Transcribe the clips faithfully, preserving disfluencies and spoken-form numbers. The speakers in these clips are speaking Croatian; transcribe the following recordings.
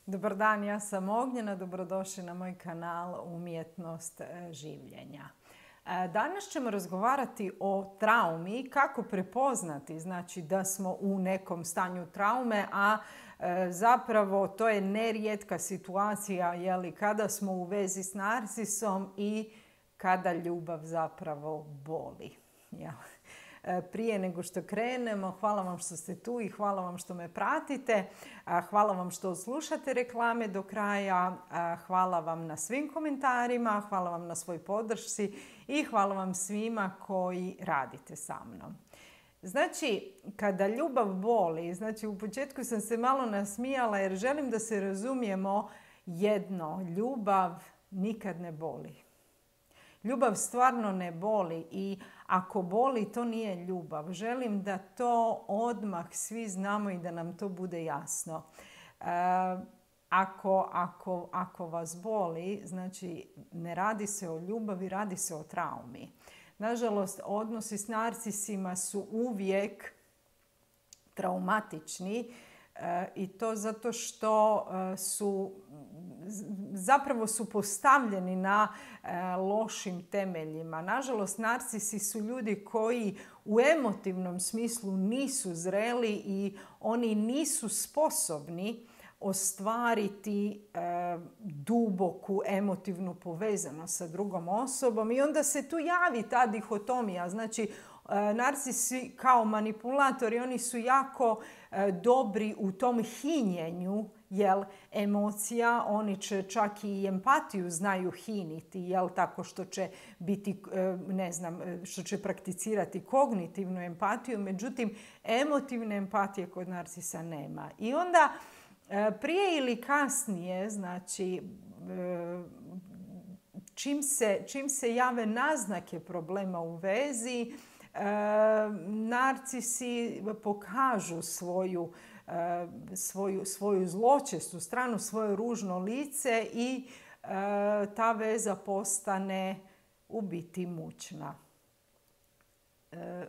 Dobar dan, ja sam Ognjena, dobrodošli na moj kanal Umjetnost življenja. Danas ćemo razgovarati o traumi, kako prepoznati znači da smo u nekom stanju traume, a zapravo to je nerijetka situacija jeli, kada smo u vezi s narcisom i kada ljubav zapravo boli. Jel? Prije nego što krenemo, hvala vam što ste tu i hvala vam što me pratite. Hvala vam što slušate reklame do kraja. Hvala vam na svim komentarima, hvala vam na svoj podršci i hvala vam svima koji radite sa mnom. Znači, kada ljubav boli, znači u početku sam se malo nasmijala jer želim da se razumijemo jedno, ljubav nikad ne boli. Ljubav stvarno ne boli i ako boli, to nije ljubav. Želim da to odmah svi znamo i da nam to bude jasno. E, ako, ako, ako vas boli, znači ne radi se o ljubavi, radi se o traumi. Nažalost, odnosi s narcisima su uvijek traumatični. E, I to zato što e, su zapravo su postavljeni na e, lošim temeljima. Nažalost, narcisi su ljudi koji u emotivnom smislu nisu zreli i oni nisu sposobni ostvariti e, duboku emotivnu povezanost sa drugom osobom i onda se tu javi ta dihotomija. Znači, e, narcisi kao manipulatori, oni su jako e, dobri u tom hinjenju jel, emocija, oni će čak i empatiju znaju hiniti, jel, tako što će biti, ne znam, što će prakticirati kognitivnu empatiju, međutim, emotivne empatije kod narcisa nema. I onda prije ili kasnije, znači, čim se, čim se jave naznake problema u vezi, narcisi pokažu svoju Svoju, svoju zločestu stranu, svoje ružno lice i e, ta veza postane u biti mučna. E,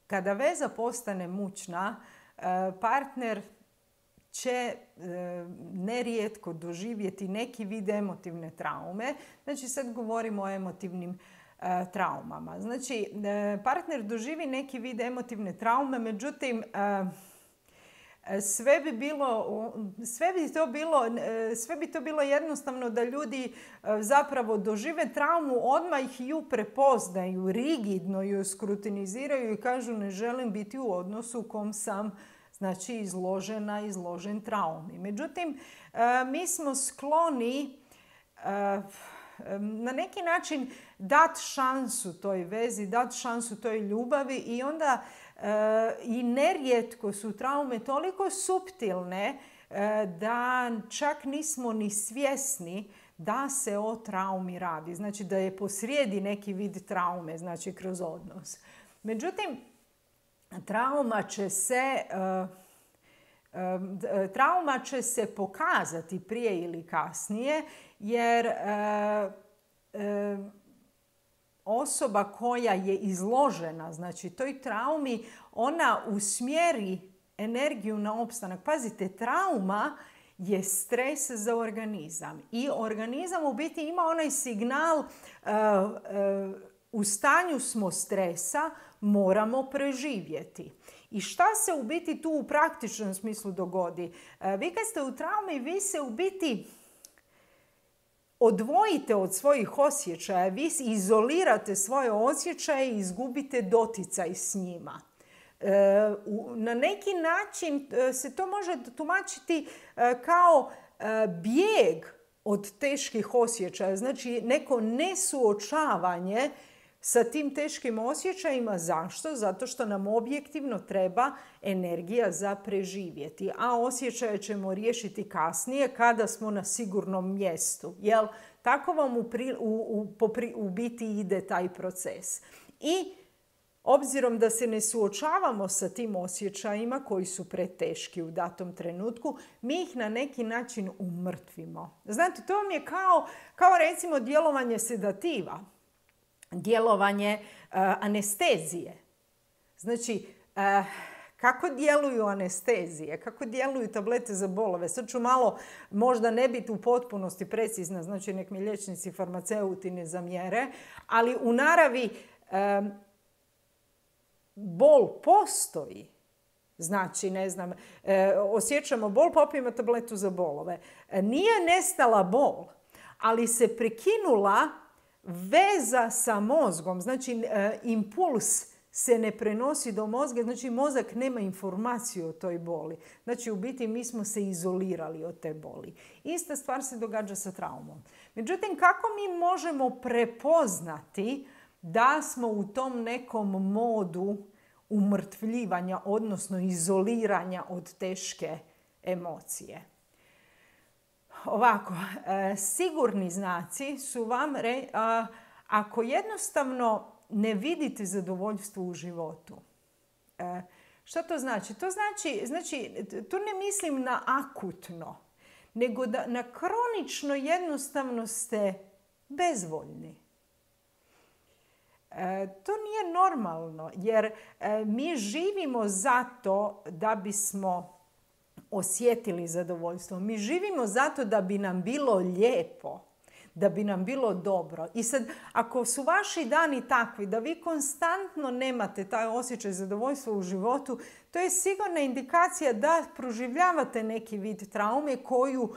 kada veza postane mučna, e, partner će e, nerijetko doživjeti neki vid emotivne traume. Znači sad govorimo o emotivnim e, traumama. Znači e, partner doživi neki vid emotivne traume, međutim e, Sve bi, bilo, sve, bi to bilo, sve bi to bilo jednostavno da ljudi zapravo dožive traumu, odmah ju prepoznaju, rigidno ju skrutiniziraju i kažu ne želim biti u odnosu u kom sam znači, izložena, izložen traumi. Međutim, mi smo skloni na neki način dati šansu toj vezi, dati šansu toj ljubavi i onda e, i nerijetko su traume toliko suptilne e, da čak nismo ni svjesni da se o traumi radi. Znači da je posrijedi neki vid traume, znači kroz odnos. Međutim, trauma će se... E, Trauma će se pokazati prije ili kasnije jer e, e, osoba koja je izložena znači toj traumi, ona usmjeri energiju na opstanak. Pazite, trauma je stres za organizam i organizam u biti ima onaj signal e, e, u stanju smo stresa, moramo preživjeti. I šta se u biti tu u praktičnom smislu dogodi? Vi kad ste u traumi, vi se u biti odvojite od svojih osjećaja, vi izolirate svoje osjećaje i izgubite doticaj s njima. Na neki način se to može tumačiti kao bijeg od teških osjećaja, znači neko nesuočavanje sa tim teškim osjećajima. Zašto? Zato što nam objektivno treba energija za preživjeti. A osjećaje ćemo riješiti kasnije kada smo na sigurnom mjestu. Jel? Tako vam u, pri, u, u, popri, u biti ide taj proces. I obzirom da se ne suočavamo sa tim osjećajima koji su preteški u datom trenutku, mi ih na neki način umrtvimo. Znate, to vam je kao, kao recimo djelovanje sedativa. Djelovanje uh, anestezije. Znači, uh, kako djeluju anestezije, kako djeluju tablete za bolove. Sad ću malo možda ne biti u potpunosti precizna, znači nek mi liječnici farmaceuti ne zamjere, ali u naravi e, bol postoji. Znači, ne znam, e, osjećamo bol, popijemo tabletu za bolove. E, nije nestala bol, ali se prekinula veza sa mozgom. Znači, e, impuls se ne prenosi do mozga, znači mozak nema informaciju o toj boli. Znači, u biti mi smo se izolirali od te boli. Ista stvar se događa sa traumom. Međutim, kako mi možemo prepoznati da smo u tom nekom modu umrtvljivanja, odnosno izoliranja od teške emocije? Ovako, e, sigurni znaci su vam re, a, ako jednostavno ne vidite zadovoljstvo u životu. E, što to znači? To znači, znači, tu ne mislim na akutno, nego da na kronično jednostavno ste bezvoljni. E, to nije normalno, jer e, mi živimo zato da bismo osjetili zadovoljstvo. Mi živimo zato da bi nam bilo lijepo, da bi nam bilo dobro. I sad, ako su vaši dani takvi da vi konstantno nemate taj osjećaj zadovoljstva u životu, to je sigurna indikacija da proživljavate neki vid traume koju,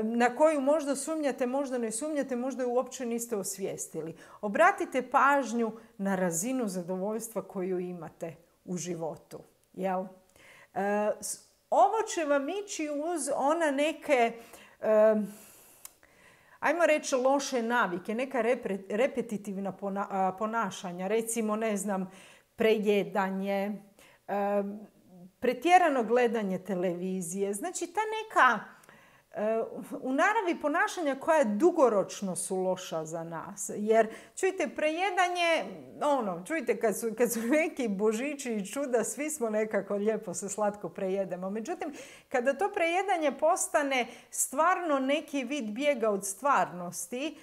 na koju možda sumnjate, možda ne sumnjate, možda ju uopće niste osvijestili. Obratite pažnju na razinu zadovoljstva koju imate u životu. Jel? E, ovo će vam ići uz ona neke, e, ajmo reći, loše navike, neka repre, repetitivna pona, ponašanja. Recimo, ne znam, prejedanje, e, pretjerano gledanje televizije. Znači, ta neka u naravi ponašanja koja dugoročno su loša za nas. Jer, čujte, prejedanje, ono, čujte, kad su, kad su neki božići i čuda, svi smo nekako lijepo se slatko prejedemo. Međutim, kada to prejedanje postane stvarno neki vid bijega od stvarnosti,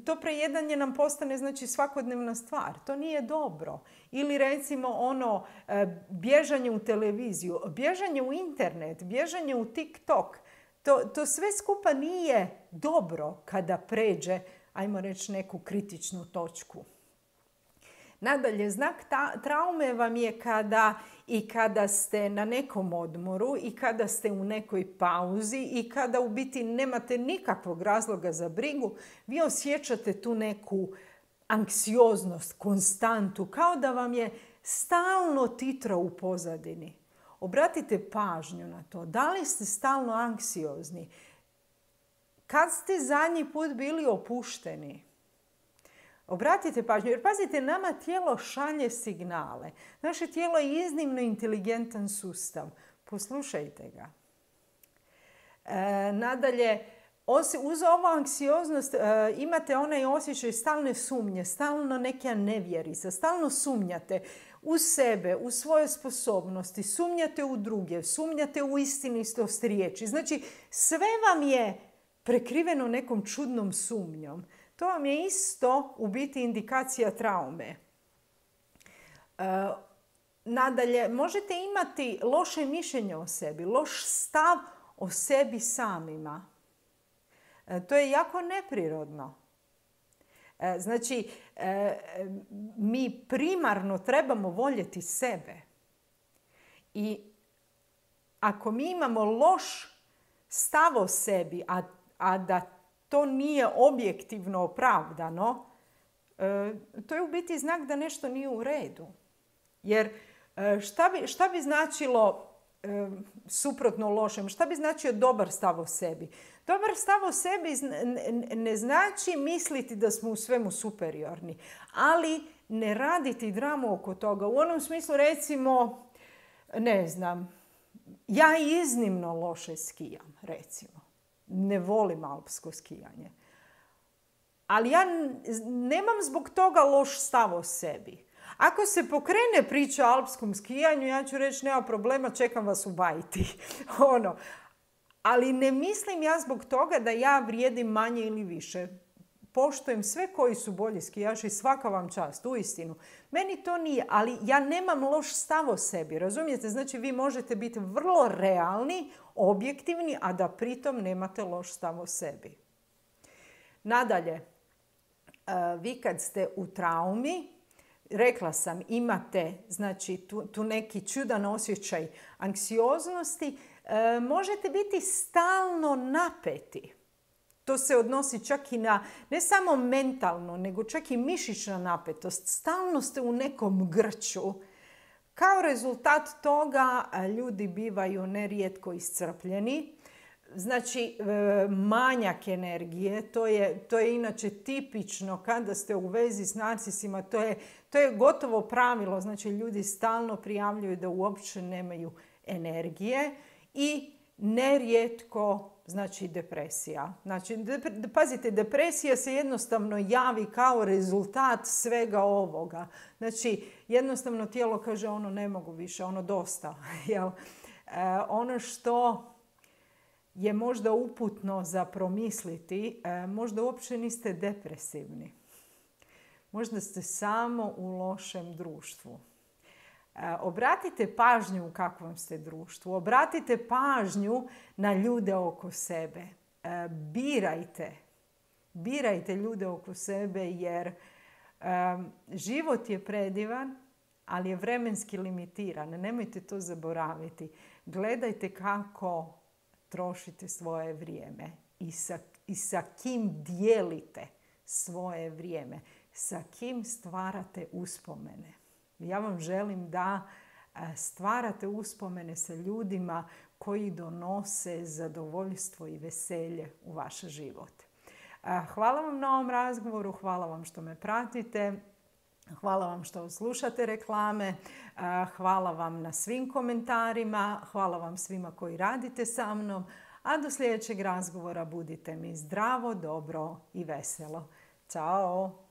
to prejedanje nam postane, znači, svakodnevna stvar. To nije dobro. Ili recimo ono, bježanje u televiziju, bježanje u internet, bježanje u TikTok. To, to sve skupa nije dobro kada pređe, ajmo reći, neku kritičnu točku. Nadalje, znak ta, traume vam je kada i kada ste na nekom odmoru i kada ste u nekoj pauzi i kada u biti nemate nikakvog razloga za brigu, vi osjećate tu neku anksioznost, konstantu, kao da vam je stalno titra u pozadini. Obratite pažnju na to. Da li ste stalno anksiozni? Kad ste zadnji put bili opušteni? Obratite pažnju, jer pazite, nama tijelo šalje signale. Naše tijelo je iznimno inteligentan sustav. Poslušajte ga. E, nadalje, uz ovu anksioznost e, imate onaj osjećaj stalne sumnje, stalno neka nevjerica, stalno sumnjate u sebe, u svoje sposobnosti, sumnjate u druge, sumnjate u istinitost riječi. Znači, sve vam je prekriveno nekom čudnom sumnjom. To vam je isto u biti indikacija traume. E, nadalje, možete imati loše mišljenje o sebi, loš stav o sebi samima. E, to je jako neprirodno. E, znači, e, mi primarno trebamo voljeti sebe. I ako mi imamo loš stav o sebi, a, a da to nije objektivno opravdano, e, to je u biti znak da nešto nije u redu. Jer e, šta bi, šta bi značilo e, suprotno lošem? Šta bi značio dobar stav o sebi? Dobar stav o sebi ne znači misliti da smo u svemu superiorni, ali ne raditi dramu oko toga. U onom smislu, recimo, ne znam, ja iznimno loše skijam, recimo. Ne volim alpsko skijanje. Ali ja nemam zbog toga loš stav o sebi. Ako se pokrene priča o alpskom skijanju, ja ću reći, nema problema, čekam vas u bajti. ono. Ali ne mislim ja zbog toga da ja vrijedim manje ili više. poštujem sve koji su bolji skijaši, svaka vam čast, uistinu. Meni to nije, ali ja nemam loš stav o sebi, razumijete? Znači vi možete biti vrlo realni, objektivni, a da pritom nemate loš stav o sebi. Nadalje, vi kad ste u traumi, rekla sam, imate znači, tu, tu neki čudan osjećaj anksioznosti, e, možete biti stalno napeti. To se odnosi čak i na, ne samo mentalno, nego čak i mišićna napetost. Stalno ste u nekom grču. Kao rezultat toga ljudi bivaju nerijetko iscrpljeni. Znači, manjak energije, to je, to je inače tipično kada ste u vezi s narcisima, to je, to je gotovo pravilo. Znači, ljudi stalno prijavljuju da uopće nemaju energije i nerijetko, znači, depresija. Znači, de, pazite, depresija se jednostavno javi kao rezultat svega ovoga. Znači, jednostavno tijelo kaže ono ne mogu više, ono dosta. Jel? E, ono što je možda uputno za promisliti, e, možda uopće niste depresivni. Možda ste samo u lošem društvu. E, obratite pažnju u kakvom ste društvu. Obratite pažnju na ljude oko sebe. E, birajte. Birajte ljude oko sebe jer e, život je predivan, ali je vremenski limitiran. Nemojte to zaboraviti. Gledajte kako trošite svoje vrijeme i sa, i sa kim dijelite svoje vrijeme, sa kim stvarate uspomene. Ja vam želim da stvarate uspomene sa ljudima koji donose zadovoljstvo i veselje u vaš život. Hvala vam na ovom razgovoru, hvala vam što me pratite. Hvala vam što slušate reklame, hvala vam na svim komentarima, hvala vam svima koji radite sa mnom, a do sljedećeg razgovora budite mi zdravo, dobro i veselo. Ćao!